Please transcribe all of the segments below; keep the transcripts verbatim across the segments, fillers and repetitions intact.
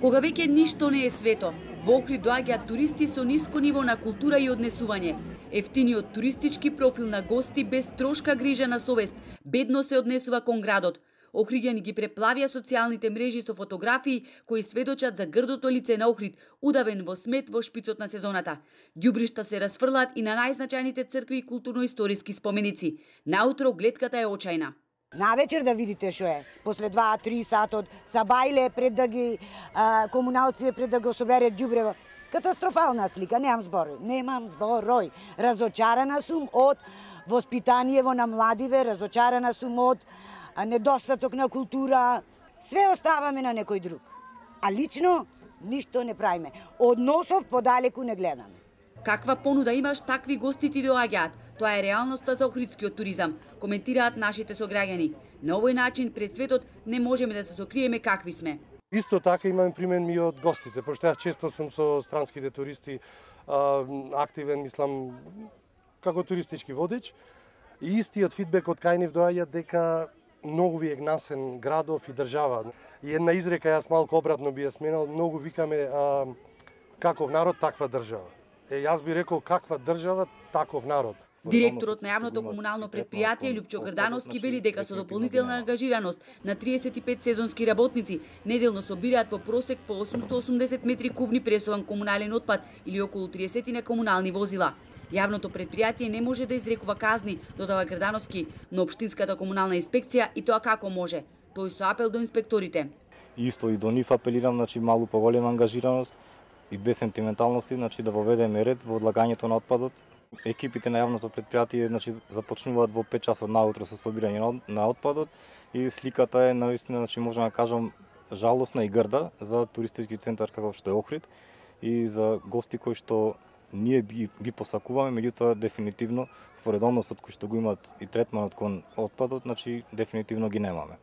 Кога веќе ништо не е свето, во Охрид доаѓаат туристи со ниско ниво на култура и однесување. Ефтиниот туристички профил на гости без трошка грижа на совест, бедно се однесува кон градот. Охриѓани ги преплавија социјалните мрежи со фотографии кои сведочат за грдото лице на Охрид, удавен во смет во шпицот на сезоната. Ѓубришта се расфрлаат и на најзначајните цркви и културно-историски споменици. Наутро гледката е очајна. Навечер да видите што е. После два-три сатот са бајле пред да ги а, комуналци пред да го собере ѓубрево. Катастрофална слика, немам зборој, немам зборој. Разочарана сум од воспитаниево на младиве, разочарана сум од недостаток на култура. Све оставаме на некој друг. А лично ништо не правиме. Односов подалеку не гледаме. Каква понуда имаш, такви гости ти доаѓаат. Тоа е реалноста за охридскиот туризам, коментираат нашите сограѓани. На овој начин пред светот не можеме да се сокриеме какви сме. Исто така имаме примен и од гостите, пошто јас често сум со странските туристи а, активен, мислам, како туристички водеч. И истиот фидбек од кај нив доаѓа дека многу ви е гнасен градов и држава. И една изрека, јас малку обратно би ја сменал, многу викаме а, каков народ, таква држава. Е, јас би рекол каква држава, таков народ. Директорот на јавното комунално предпријатие Лјупчо Грдановски вели дека со дополнителна ангажираност на триесет и пет сезонски работници неделно собираат по просек по осумстотини и осумдесет метри кубни пресован комунален отпад или околу триесет на комунални возила. Јавното предпријатие не може да изрекува казни, додава Грдановски, но општинската комунална инспекција и тоа како може. Тој со апел до инспекторите. Исто и до нив апелирам, значи малку поголема ангажираност и без сентименталности, значи да воведеме ред во одлагањето на отпадот. Екипите на јавното предпријатие, значи, започнуваат во пет часот наутро со собирање на отпадот и сликата е навистина, значи, можам да кажам, жалосна и грда за туристички центар каков што е Охрид и за гости кои што ние ги, ги посакуваме, меѓутоа дефинитивно според односот кој што го имаат и третманот кон отпадот, значи дефинитивно ги немаме.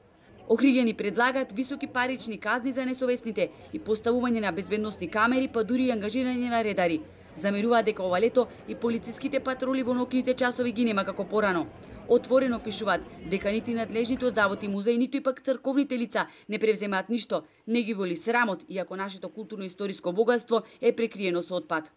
Охриѓани предлагаат високи парични казни за несовесните и поставување на безбедносни камери, па дури и ангажирање на редари. Замеруваат дека ова лето и полициските патроли во ноќните часови ги нема како порано. Отворено пишуваат дека нити надлежните од завод и музеи, ниту и пак црковните лица не превземаат ништо, не ги боли срамот, иако нашето културно-историско богатство е прекриено со отпад.